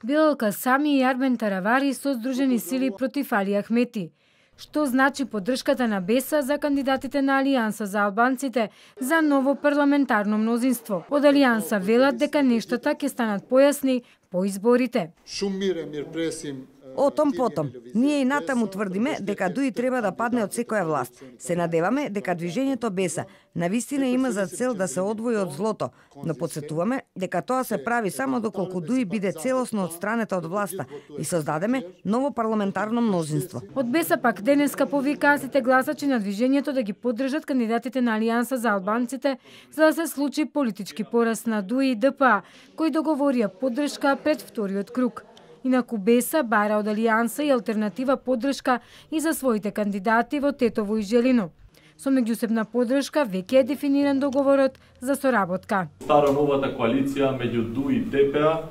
Билал Касами и Армен Таравари со Сдружени сили против Али Ахмети. Што значи поддршката на БЕСА за кандидатите на Алијанса за албанците за ново парламентарно мнозинство? Од Алијанса велат дека нештата ќе станат појасни по изборите. О том потом, ние и натаму тврдиме дека ДУИ треба да падне од секоја власт. Се надеваме дека движењето БЕСА навистина има за цел да се одвои од злото, но подсетуваме дека тоа се прави само доколку ДУИ биде целосно одстранета од власта и создадеме ново парламентарно мнозинство. Од БЕСА пак денеска повикаа сите гласачи на движењето да ги поддржат кандидатите на Алијанса за албанците за да се случи политички пораз на ДУИ и ДПА, кои договорија поддршка пред вториот круг. Инаку БЕСА бара од Алијанса и алтернатива поддршка и за своите кандидати во Тетово и Желино. Со меѓусебна поддршка веќе е дефиниран договорот за соработка. Стара новата коалиција меѓу ДУИ и ДПА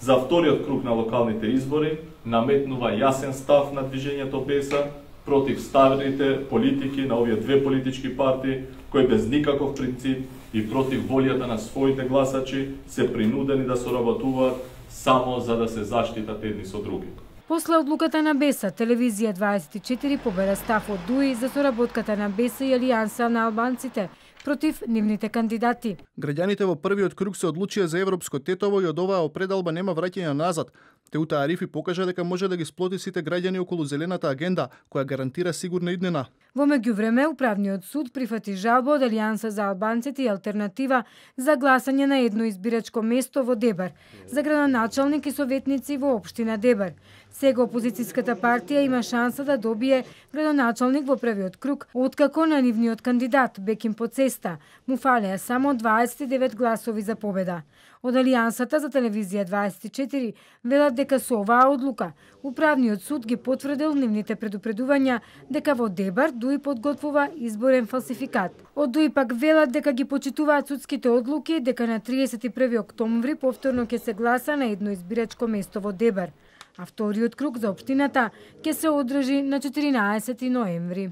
за вториот круг на локалните избори наметнува јасен став на движењето БЕСА против старите политики на овие две политички партии кои без никаков принцип и против волјата на своите гласачи се принудени да соработуваат само за да се заштитат едни со други. После одлуката на БЕСА, Телевизија 24 побера став од ДУИ за соработката на БЕСА и Алијанса на албанците против нивните кандидати. Граѓаните во првиот круг се одлучија за европско Тетово и од оваа опредалба нема враќање назад. Теута Арифи покажа дека може да ги сплоти сите граѓани околу зелената агенда, која гарантира сигурна иднина. Во меѓувреме, Управниот суд прифати жалба од Алијанса за албанците и алтернатива за гласање на едно избирачко место во Дебар, за градоначалник и советници во општина Дебар. Сега опозицијската партија има шанса да добие градоначалник во првиот круг, откако на нивниот кандидат Беким Поцеста му фалеа само 29 гласови за победа. Од Алијансата за Телевизија 24 велат дека со оваа одлука Управниот суд ги потврдил нивните предупредувања дека во Дебар ДУИ подготвува изборен фалсификат. Од ДУИ пак велат дека ги почитуваат судските одлуки дека на 31 октомври повторно ќе се гласа на едно избирачко место во Дебар, а вториот круг за општината ќе се одржи на 14 ноември.